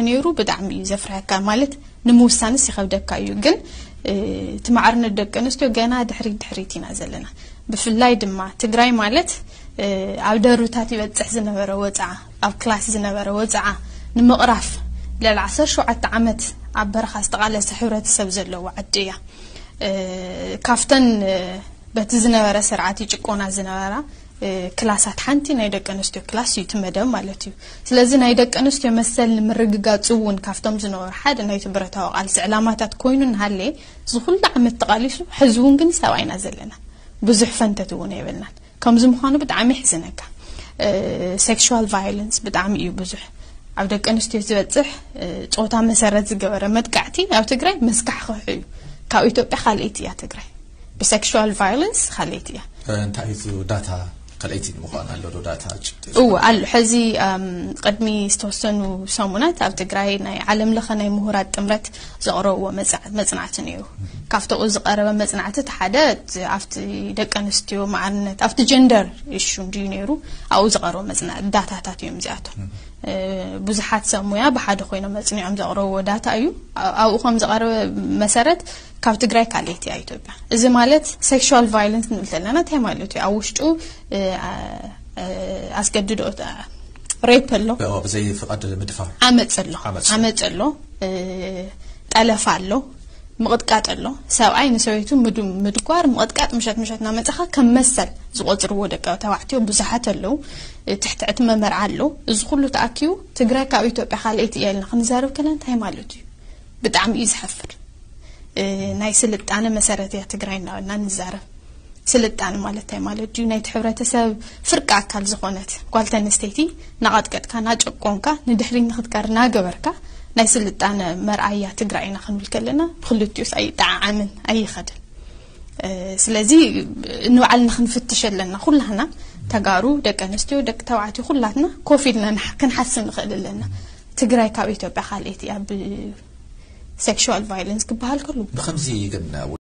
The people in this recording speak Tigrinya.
ነይሩ ብጣዕሚ እዩ ዘፍርሐካ፣ ማለት ንምውሳንስ ይኸብደካ እዩ። ግን እቲ ማዕርነት ደቂ ኣንስትዮ ገና ድሕሪት ድሕሪት ኢና ዘለና። ብፍላይ ድማ ትግራይ ማለት ኣብ ደርብታት ይበፅሕ ዝነበረ ወፅዓ፣ ኣብ ክላስ ዝነበረ ወፅዓ ንምቕራፍ ልዕሊ ዓሰርተ ሸውዓተ ዓመት ኣብ በረኻ ዝተቓለሰ ሕብረተሰብ ዘለዎ ዓዲ እያ። ካብተን በቲ ዝነበረ ስርዓት ይጭቆና ዝነበራ ክላሳት ሓንቲ ናይ ደቂ ኣንስትዮ ክላስ እዩ፣ እቲ መደብ ማለት እዩ። ስለዚ ናይ ደቂ ኣንስትዮ መሰል ንምርግጋፅ እውን ካብቶም ዝነበሩ ሓደ ናይቲ ብረታዊ ቃልሲ ዕላማታት ኮይኑ እናሃለየ፣ እዚ ኩሉ ዓመት ተቓሊሱ፣ ሕዚ እውን ግን ሰብኣይና ዘለና፣ ብዙሕ ፈንተት እውን የብልናን። ከምዚ ምዃኑ ብጣዕሚ ይሕዝነካ። ሴክሹዋል ቫዮለንስ ብጣዕሚ እዩ ብዙሕ ኣብ ደቂ ኣንስትዮ ዝበፅሕ። ጾታ መሰረት ዝገበረ መጥቃዕቲ ኣብ ትግራይ መስካሕክሑ እዩ። ካብ ኢትዮጵያ ካልኣይቲ እያ ትግራይ፣ ብሴክሹዋል ቫዮለንስ ካልኣይቲ እያ። እንታይ እዩ ዳታ? ካልኣይቲ ንምዃን ኣሎ ዶ ዳታ? እዎ ኣሎ። ሕዚ ቅድሚ ዝተወሰኑ ሰሙናት ኣብ ትግራይ ናይ ዓለም ለኸ ናይ ምሁራት ጥምረት ዘቕረብዎ መፅናዕቲ ነይሩ። ካብቲ ዝቐረበ መፅናዕቲ እቲ ሓደ ኣብቲ ደቂ ኣንስትዮ ማዕርነት፣ ኣብቲ ጀንደር ኢሹ እንድዩ ነይሩ፣ ኣብኡ ዝቐረቡ መፅና ዳታታት እዮም እዚኣቶም። ብዙሓት ሰብ ሙያ ብሓደ ኮይኖም መፅኒዖም ዘቕረብዎ ዳታ እዩ። ኣብኡ ከም ዝቐረበ መሰረት ካብ ትግራይ ካልኣይቲ እያ ኢትዮጵያ። እዚ ማለት ሴክሹዋል ቫዮለንስ ንብል ዘለና እንታይ ማለት እዩ? ኣብ ውሽጡ ኣስገድዶ ሬፕ ኣሎ፣ ብዘይ ፍቓድ ምድፋር ዓመፅ ኣሎ፣ ዓመፅ ኣሎ፣ ጠለፋ ኣሎ፣ ምቕጥቃጥ ኣሎ። ሰብኣይ ንሰበይቱ ምድጓር፣ ምቕጥቃጥ፣ ምሸት ምሸት እናመፀኻ ከም መሰል ዝቆፅርዎ ደቂ ተባዕትዮ ብዙሓት ኣለዉ። ትሕቲ ዕድመ መርዓ ኣሎ። እዚ ኩሉ ተኣኪቡ ትግራይ ካብ ኢትዮጵያ ካልኣይቲ እያ ኢልና ክንዛረብ ከለና እንታይ ማለት እዩ? ብጣዕሚ እዩ ዘሕፍር። ናይ ስልጣነ መሰረት እያ ትግራይ እናበልና ንዛረብ። ስልጣነ ማለት እንታይ ማለት ድዩ? ናይቲ ሕብረተሰብ ፍርቂ ኣካል ዝኾነት ጓል ተንስተይቲ ናቐጥቀጥካ፣ ናጨቆንካ፣ ንድሕሪት ንክትቀር ናገበርካ ናይ ስልጣነ መርኣያ ትግራይ ኢና ክንብል ከለና ብክልቲኡስ ኣይጠዓዓምን፣ ኣይኸድን። ስለዚ ንባዕልና ክንፍትሽ ኣለና። ኩላህና ተጋሩ፣ ደቂ ኣንስትዮ፣ ደቂ ተባዕትዮ፣ ኩላትና ኮፍ ኢልና ክንሓስብ ንኽእል ኣለና። ትግራይ ካብ ኢትዮጵያ ካልኣይቲ እያ ብሴክሹዋል ቫዮለንስ ክበሃል ከሉ። ብኸምዚ ግን